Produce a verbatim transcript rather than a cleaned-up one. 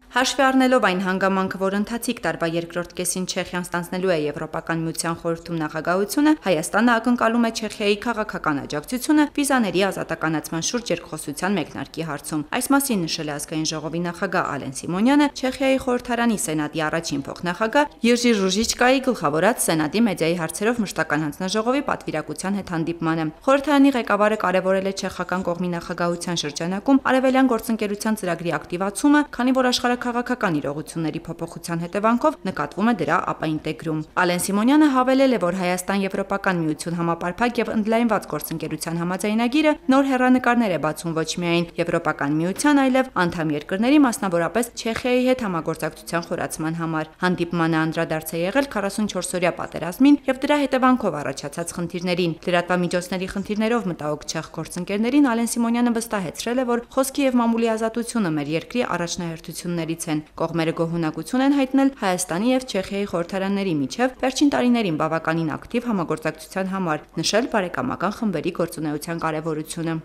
Հաշվի առնելով այն հանգամանքը, որ ընթացիկ տարվա երկրորդ կեսին Չեխիան ստանձնելու է Եվրոպական միության խորհրդում նախագահությունը, Հայաստանը ակնկալում է Չեխիայի քաղաքական աջակցությունը վիզաների ազատականացման շուրջ երկխոսության մեկնարկի հարցում։ Այս մասին նշել է ազգային ժողովի նախագահ Ալեն Սիմոնյանը Չեխիայի խորհրդարանի սենատի առաջին փոխնախագահ Յերջի Ռուժիչկայի գլխավորած սենատի մեդիայի հարցերով մշտական հանձնաժողովի պատվիրակության հետ հանդիպմանը։ Խորհրդարանի ղեկավարը կարևորել է չեխական կողմի նախագահության շրջանակում արևելյան գործընկերության ծրագրի ակտիվացումը, քանի որ աշխարհ քաղաքական իրողությունների փոփոխության հետևանքով նկատվում է դրա ապաինտեգրում։ Ալեն Սիմոնյանը հավելել է, որ Հայաստան-Եվրոպական միություն համապարփակ եւ ընդլայնված գործընկերության համաձայնագիրը նոր հեռանկարներ է բացում ոչ միայն Եվրոպական միության, այլև անդամ երկրների, մասնավորապես Չեխիայի հետ համագործակցության խորացման համար։ Հանդիպմանը անդրադարձ է եղել քառասունչորսօրյա պատերազմին եւ դրա հետևանքով առաջացած խնդիրներին։ Լրատվամիջոցների խնդիրներով մտահոգ չեխ գործընկերներին Ալեն Սիմոնյանը վստահեցրել է, որ խոսքի եւ մամուլի ազատությունը մեր երկրի առաջնահերթություններ Կողմերը գոհունակություն են հայտնել Հայաստանի եւ Չեխիայի խորհրդարանների միջև վերջին տարիներին բավականին ակտիվ համագործակցության համար, նշել բարեկամական խմբերի գործունեության կարևորությունը։